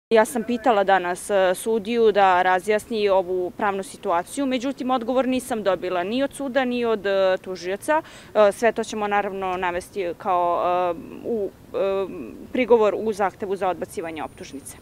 Ja sam pitala danas sudiju da razjasni ovu pravnu situaciju, međutim odgovor nisam dobila ni od suda ni od tužioca. Sve to ćemo naravno navesti kao prigovor u zahtevu za odbacivanje optužnice.